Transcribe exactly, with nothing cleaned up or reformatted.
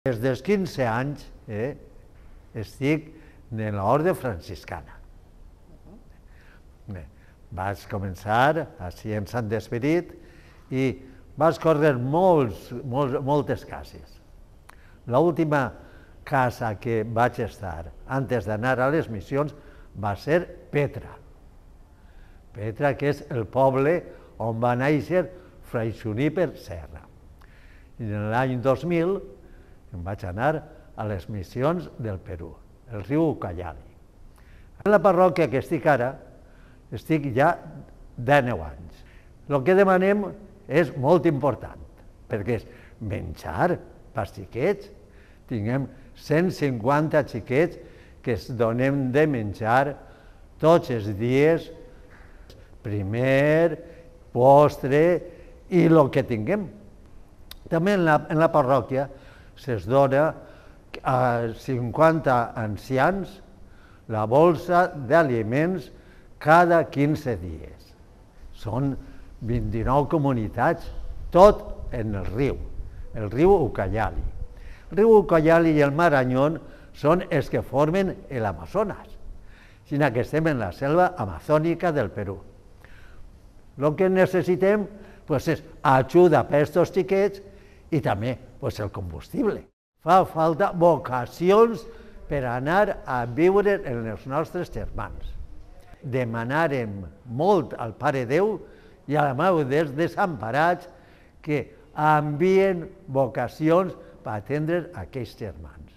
Des dels quinze anys eh, estic en l'orde franciscana. Bé, vaig començar així en Sant Esperit i vaig córrer molts, molts, moltes cases. L'última casa que vaig estar antes d'anar a les missions va ser Petra. Petra, que és el poble on va néixer Fray Juníper Serra. I en l'any dos mil em vaig anar a les missions del Perú, el riu Ucayali. En la parròquia que estic ara, estic ja dènou anys. El que demanem és molt important, perquè és menjar pels xiquets. Tinguem cent cinquanta xiquets que es donem de menjar tots els dies, primer, postre i el que tinguem. També en la, en la parròquia se'ls dona a cinquanta ancians la bolsa d'aliments cada quinze dies. Són vint-i-nou comunitats, tot en el riu, el riu Ucayali. El riu Ucayali i el Marañón són els que formen l'Amazones, sinó que estem en la selva amazònica del Perú. El que necessitem pues, és ajuda per aquests xiquets i també pues, el combustible. Fa falta vocacions per anar a viure en els nostres germans. Demanarem molt al Pare Déu i a la Mare dels Desemparats que envien vocacions per atendre aquests germans.